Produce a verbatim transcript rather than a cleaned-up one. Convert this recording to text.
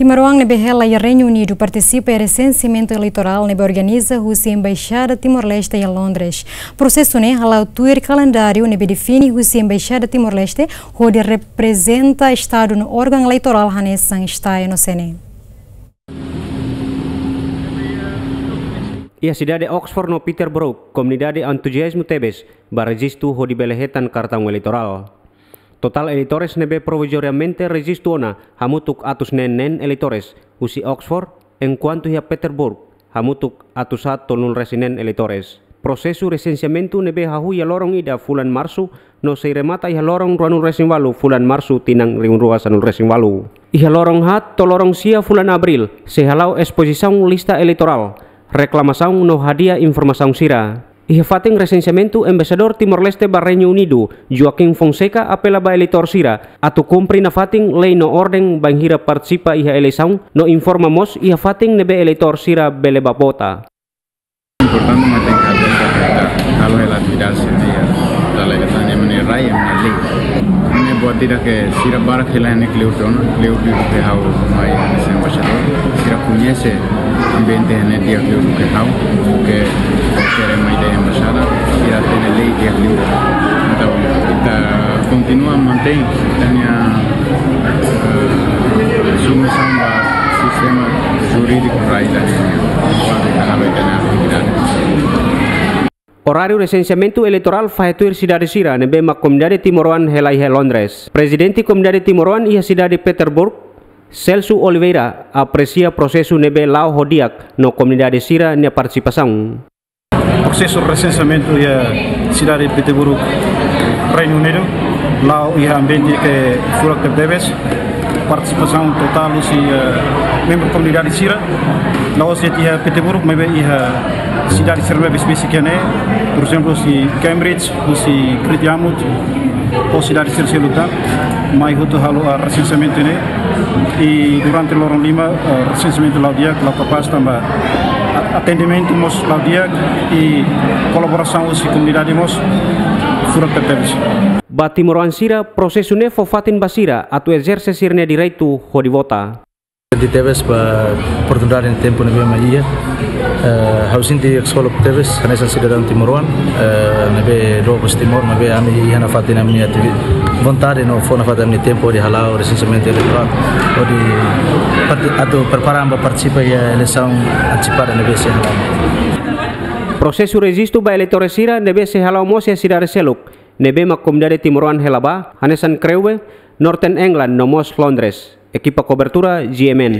Timoroan ne'ebé hela iha Reinu Unidu partisipa iha resenseamentu eleitorál ne'ebé organiza husi Embaixada Timor-Leste iha Londres. Prosesu ne'e hala'o tuir kalendáriu ne'ebé define husi Embaixada Timor-Leste hodi reprezenta Estadu no órgaun eleitorál hanesan STAE no CNE. Iha sidade Oxford no Peterborough, komunidade entuziazmu tebes ba rejistu hodi bele hetan kartaun eleitorál. Totál eleitores ne'ebé provizoriamente rejistu ona hamutuk atus neen neen eleitores husi Oxford, enkuantu iha Peterborough hamutuk atus haat tolunulu-resin-neen eleitores. Prosesu resenseamentu ne'ebé hahú iha loron ida fulan Marsu no sei remata iha loron ruanulu-resin-ualu fulan Marsu tinan rihun rua sanulu-resin-ualu. Iha loron haat to'o loron sia fulan Abríl sei hala'o espozisaun lista eleitorál, reklamasaun no hadi'a informasaun sira. Iha fatin resenseamentu, Embaixadór Timor-Leste ba Reinu Unidu, Joaquim Fonseca, apela ba eleitór sira atu kumpre nafatin lei no orden bainhira partisipa iha eleisaun no informa mós iha fatin ne'ebé eleitór sira bele bá vota. Importante mak tenke atenta, halo hela atividade sira-ne'e, dala ida tan ema nia rai, ema nia lei. Ne'e buat ida ke sira barak hela ne'e kleur ona, kleur liu ke ha'u mai hanesan embaixadór. Sira koñese ambiente ne'e di'ak liu ke ha'u, ke kualkér ema ida iha embaixada, sira hatene lei di'ak liu. Entaun, ita kontinua mantein ita-nia, eh, submisaun ba sistema jurídiku rai ida-ne'e, kuandu ita halo ita-nia atividade. Oráriu resenseamentu eleitorál fahe tuir sidade sira ne'ebé mak komunidade timoroan hela iha Londres. Prezidente Komunidade Timoroan iha sidade Peterborough, Celso Oliveira, apresia prosesu ne'ebé la'o ho di'ak no komunidade sira-nia partisipasaun. Prosesu resenseamentu iha sidade Peterborough, Reinu Unidu, la'o iha ambiente ke furak tebetebes, partisipasaun totál husi, eh, membru komunidade sira, la'ós de'it iha Peterborough, maibé iha sidade sira ne'ebé besik-besik iha ne'e, por ezemplu, husi Cambridge, husi Great Yarmouth, ho sidade sira seluk tan, mai hotu halo, ah, resenseamentu ne'e, i durante loron lima, ah, resenseamentu la'o di'ak, la'o kapás tanba a-, atendimentu mós la'o di'ak, i kolaborasaun husi komunidade mós furak tebetebes. Ba timoroan sira, prosesu ne'e fó fatin ba sira atu ezerse sira-nia direitu hodi vota. Kontente tebes ba oportunidade no tempu ne'ebé mai iha. Eh, ha'u sente ksolok tebes, hanesan sidadaun timoroan, eh, ne'ebé doa ba Timor, ne'ebé ami iha nafatin ami-nia ativi-, vontade no fó nafatin ami-nia tempu hodi hala'o resenseamentu eleitorál, hodi part-, atu prepara ba partisipa iha eleisaun antesipada ne'ebé sei hala'o. Prosesu rejistu ba eleitór sira ne'ebé sei hala'o mós iha sidade seluk ne'ebé mak komunidade timoroan hela ba, hanesan Crewe, Northern England no mós Londres. Ekipa kobertura G M N.